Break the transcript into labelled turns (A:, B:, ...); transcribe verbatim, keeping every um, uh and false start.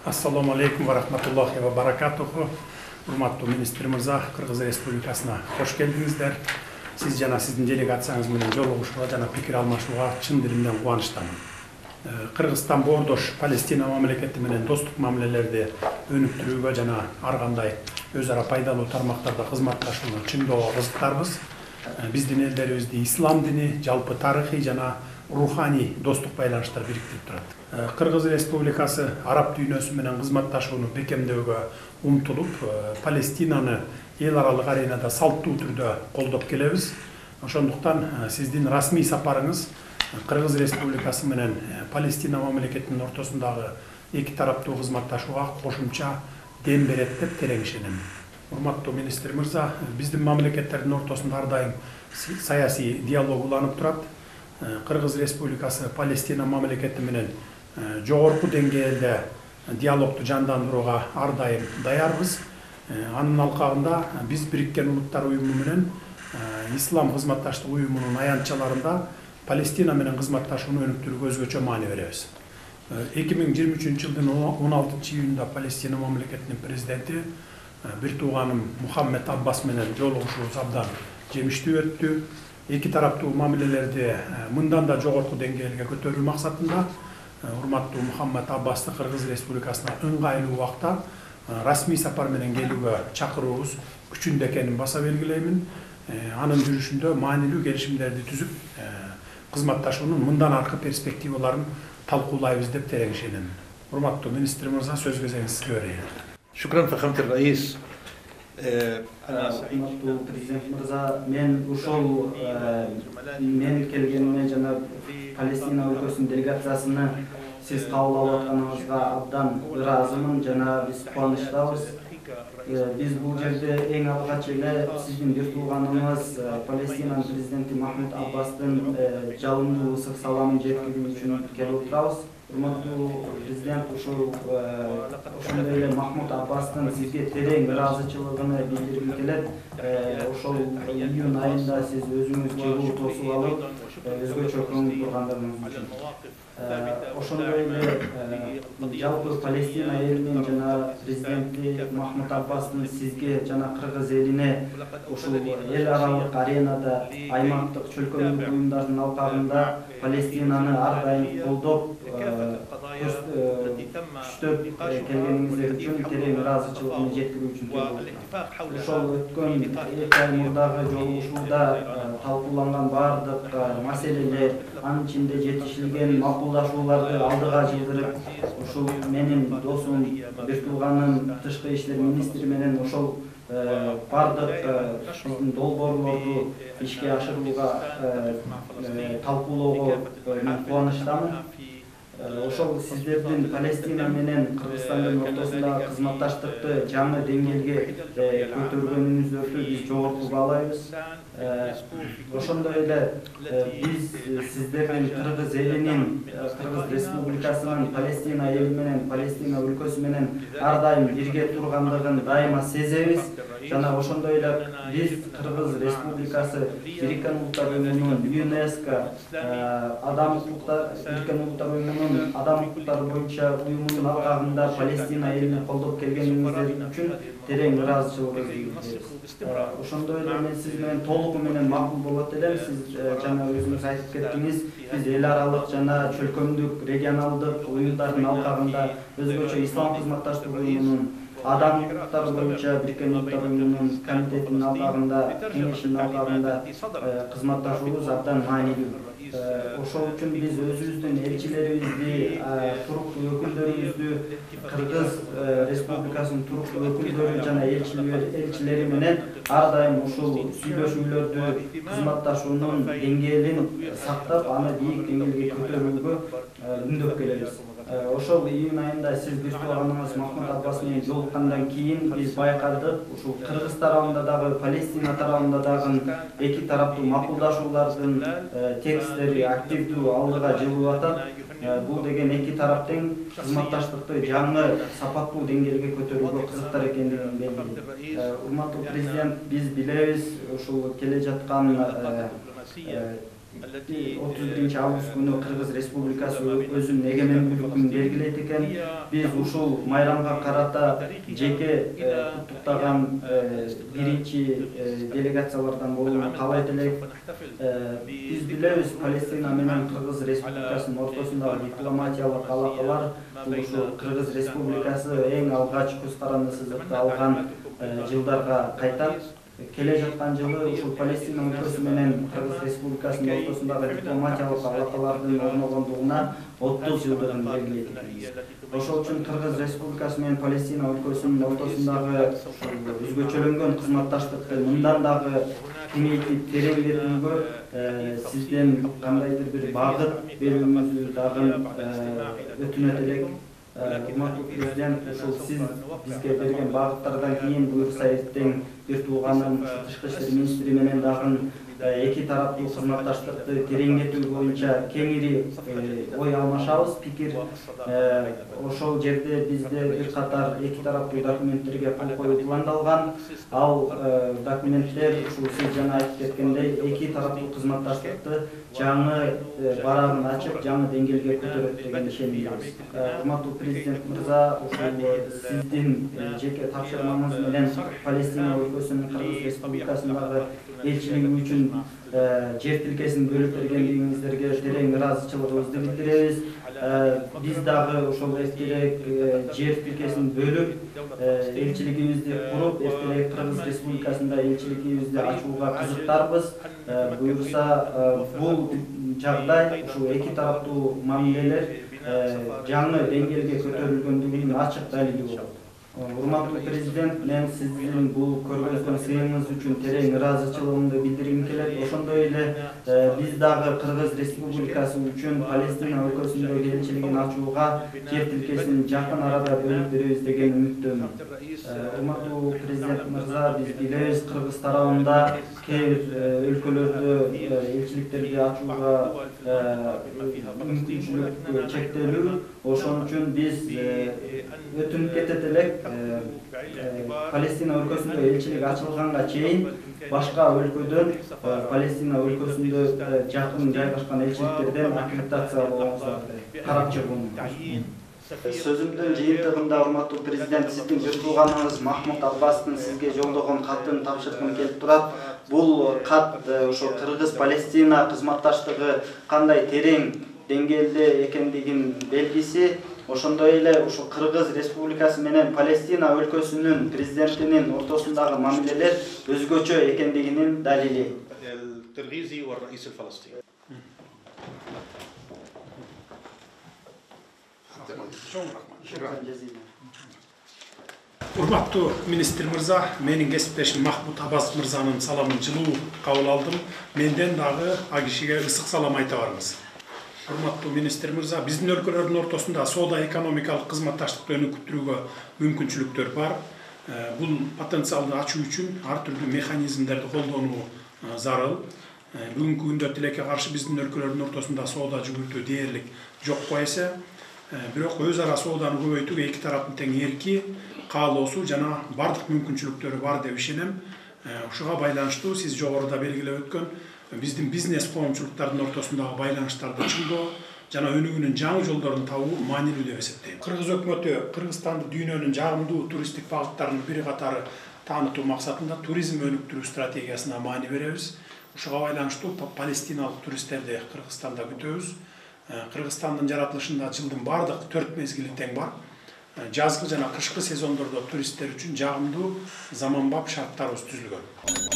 A: Ассаламу алейкум ва рахматуллахи ва баракатуху. Урматтуу министр мырза, Кыргыз Республикасына кош келдиңиздер. Сиз жана сиздин делегацияңыз менен жолугушууга жана пикир алмашууга чын дилимден кубанычтамын. Кыргызстан боордош Палестина мамлекети менен достук мамилелерди өнүктүрүүгө жана ар кандай өз ара пайдалуу тармактарда кызматташууну чыңдоого кызыктарбыз. Биздин элдерибизди ислам дини, жалпы тарыхый жана руханий достук байланыштар бириктирип турат. Кыргыз Республикасы араб дүйнөсү менен кызматташууну бекемдөөгө умтулуп, Палестинаны эл аралык аренада салттуу түрдө колдоп келебиз. Ошондуктан сиздин расмий сапарыңыз Кыргыз Республикасы менен Палестина мамлекетинин ортосундагы эки тараптуу кызматташууга кошумча дем берет деп терең ишенем. Урматтуу министр мырза, биздин мамлекеттердин ортосунда ар дайым саясий диалог уланып турат. Кыргыз Республикасы Палестина мамлекети менен жогорку деңгээлде диалогду жандандырууга ар дайым даярбыз. Анын алкагында биз Бириккен Улуттар уюму менен Ислам кызматташтык уюмунун аянтчаларында Палестина менен кызматташууну өнүктүрүүгө өзгөчө маани беребиз. эки миң жыйырма үчүнчү жылдын он алтынчы июнда Палестина мамлекетинин президенти бир тууганым Мухаммед Аббас менен жолугушуубуз абдан жемиштүү өттү. Эки тараптуу мамилелерди мындан да жогорку деңгээлге көтөрүү максатында урматтуу Мухаммед Аббасты Кыргыз Республикасына ыңгайлуу убакта расмий сапар менен келүүгө чакыруубуз күчүндө экенин баса белгилеймин. Анын жүрүшүндө маанилүү келишимдерди түзүп, кызматташуунун мындан аркы перспективаларын талкуулайбыз деп терең ишенем. Урматтуу министр мырза, сөз кезегиңиз сизге берейин.
B: Шукран фахамат раис.
C: Урматтуу президент мырза, мен ушул мен келгениме жана Палестина өлкөсүнүн делегациясыны сиз кабыл алып атканыңызга абдан ыраазымын жана биз кубанычтабыз. Биз бул жерде эң алгач эле сиздин бир тууганыңыз Палестинанын президенти Махмуд Аббастын жалындуу ысык саламын жеткирүү үчүн келип отурабыз. Урматтуу президент, ушул ошондой эле Махмуд Аббастын сизге терең ыраазычылыгын билдиргим келет. Ошол июнь айында сиз өзүңүз чыгуу тосуп алып, өзгөчө көңүл бургандыгыңыз үчүн. Ошондой эле жалпы Палестина элинин жана президенти Махмуд Аббастын сизге жана кыргыз элине ушул эл аралык аренада аймактык чөлкөмдүк уюмдардын алкагында Палестинаны ар дайым колдоп күчтөп келгениңиздер үчүн терең ыраазычылыгымды жеткирүү үчүн келип ошол өткөн эки ай мурдагы жолугушууда талкууланган баардык маселелер, анын ичинде жетишилген макулдашууларды алдыга жылдырып, ушул менин досум, бир тууганым тышкы иштер министри менен ошол баардык биздин долбоорлорду ишке ашырууга талкуулоого мен кубанычтамын. Ошол сиздердин Палестина менен Кыргызстандын ортосундагы кызматташтыкты жаңы деңгээлге көтөргөнүңүздөрдү биз жогорку баалайбыз. Ошондой эле биз сиздердин Кыргыз элинин, Кыргыз Республикасынын Палестина эли менен, Палестина өлкөсү менен ар дайым бирге тургандыгын дайыма сезебиз. Жана ошондой эле биз Кыргыз Республикасы Бириккен Улуттар уюмунун ЮНЕСКО адам укуктар Бириккен Улуттар уюмунун адам укуктары боюнча уюмунун алкагында Палестина элини колдоп келгениңиздер үчүн терең ыраазычылыгыбызды билдиребиз. Ошондой эле мен сиз менен толугу менен макул болот элем. Сиз жана өзүңүз айтып кеттиңиз, биз эл аралык жана чөлкөмдүк регионалдык уюмдардын алкагында өзгөчө ислам кызматташтык уюмунун адам укуктары боюнча Бириккен Улуттар уюмунун комитетинин алкагында, кеңешинин алкагында кызматташуубуз абдан маанилүү. Ошол үчүн биз өзүбүздүн элчилерибизди, туруктуу өкүлдөрүбүздү, Кыргыз Республикасынын туруктуу өкүлдөрү жана элчилери менен ар дайым ушул сүйлөшүүлөрдү, кызматташуунун деңгээлин сактап, аны бийик деңгээлге көтөрүүгө үндөп келебиз. Ошол июнь айында сиз биртуаганыңыз Махмут Аббас менен жолуккандан кийин биз байкадык, ушул Кыргыз тарабында дагы, Палестина тарабында дагы эки тараптуу макулдашуулардын текстери активдүү алдыга жылып атат. Бул деген эки тараптын кызматташтыкты жаңы сапаттуу деңгээлге көтөрүүгө кызыктар экендигин белгилейт. Урматтуу президент, биз билебиз, ушул келе жаткан отуз биринчи август күнү Кыргыз Республикасы өзүнүн эгемендүүлүгүн белгилейт экен. Биз ушул майрамга карата жеке куттуктаган биринчи делегациялардан болууну каалайт элек. Биз билебиз, Палестина менен Кыргыз Республикасынын ортосундагы дипломатиялык алакалар бул ушул Кыргыз Республикасы эң алгач көз каранды сызыкты алган жылдарга кайтат. Келе жаткан жылы ушул Палестина өлкөсү менен Кыргыз Республикасынын ортосундагы дипломатиялык алакалардын орногондугуна отуз жылдыгын белгилейт. Ошол үчүн Кыргыз Республикасы менен Палестина өлкөсүнүн ортосундагы өзгөчөлөнгөн кызматташтыкты мындан дагы кеңейтип тереңдетүүгө сизден кандайдыр бир багыт берүүңүздү дагы өтүнөт элек. Урматтуу президент, ушул сиз бизге берген багыттардан кийин буюрса эртең бир тууганым тышкы иштер министри менен дагы эки тараптуу кызматташтыкты тереңдетүү боюнча кеңири ой алмашабыз, пикир. Ошол жерде бизде бир катар эки тараптуу документтерге кол коюу пландалган. Ал документтер ушул сиз жана айтып кеткендей эки тараптуу кызматташтыкты жаңы барагын ачып, жаңы деңгээлге көтөрөт деген ишенимдебиз. Урматтуу президент мырза, ушул сиздин жеке тапшырмаңыз менен Палестина өлкөсүнүн Кыргыз Республикасындагы элчилиги үчүн жер тилкесин бөлүп бергендигиңиздерге терең ыраазычылыгыбызды билдиребиз. Биз дагы ошол эртерээк жер тилкесин бөлүп, элчилигибизди куруп, эртерээк Кыргыз Республикасында элчилигибизди ачууга кызыктарбыз. Буюрса, бул жагдай, ушул эки тараптуу мамилелер жаңы деңгээлге көтөрүлгөндүгүнүн ачык далили болот. Урматтуу президент, мен сиздин бул көргөзгөн сыйыңыз үчүн терең ыраазычылыгымды билдиргим келет. Ошондой эле биз дагы Кыргыз Республикасы үчүн Палестина өлкөсүндөгү элчилигин ачууга жер тилкесин жакын арада бөлүп беребиз деген үмүттөмүн. Урматтуу президент мырза, биз билебиз, Кыргыз тарабында кээ бир өлкөлөрдө элчиликтерди ачууга мүмкүнчүлүк чектелүү. Ошон үчүн биз өтүнүп кетет элек, Палестина өлкөсүндө элчилик ачылганга чейин башка өлкөдөн Палестина өлкөсүндө жакын жайгашкан элчиликтерден аккредитация алууңузду карап чыгуун. Сөзүмдүн жыйынтыгында, урматтуу президент, сиздин бир тууганыңыз Махмут Аббастын сизге жолдогон катын тапшыргым келип турат. Бул кат ошо Кыргыз-Палестина кызматташтыгы кандай терең деңгээлде экендигин белгиси. Ошондой эле ушул Кыргыз Республикасы менен Палестина өлкөсүнүн президентинин ортосундагы мамилелер өзгөчө экендигинин далили.
A: Урматтуу министр мырза, менин кесиптешим Махмут Аббас мырзанын саламын жылуу кабыл алдым. Менден дагы а кишиге ысык салам айта барыңыз. Урматтуу министр мырза, биздин өлкөлөрдүн ортосунда соода экономикалык кызматташтыкты өнүктүрүүгө мүмкүнчүлүктөр бар. Бул потенциалды ачуу үчүн ар түрдүү механизмдерди колдонуу зарыл. Бүгүнкү күндө тилекке каршы биздин өлкөлөрдүн ортосунда соода жүгүртүү дээрлик жокко эсе, бирок өз ара сооданы көбөйтүүгө эки тараптын тең эрки, каалоосу жана бардык мүмкүнчүлүктөрү бар деп ишенем. Ушуга байланыштуу сиз жогоруда белгилеп өткөн биздин бизнес коомчулуктардын ортосундагы байланыштарды чыңдоо жана өнүгүүнүн жаңы жолдорун табуу маанилүү деп эсептейм. Кыргыз өкмөтү Кыргызстанды дүйнөнүн жагымдуу туристтик багыттарынын бири катары таанытуу максатында туризм өнүктүрүү стратегиясына маани беребиз. Ушуга байланыштуу палестиналык туристтерди Кыргызстанда күтөбүз. Кыргызстандын жаратылышында жылдын бардык төрт мезгили тең бар. Жазгы жана кышкы сезондордо туристтер үчүн жагымдуу заманбап шарттарыбыз түзүлгөн.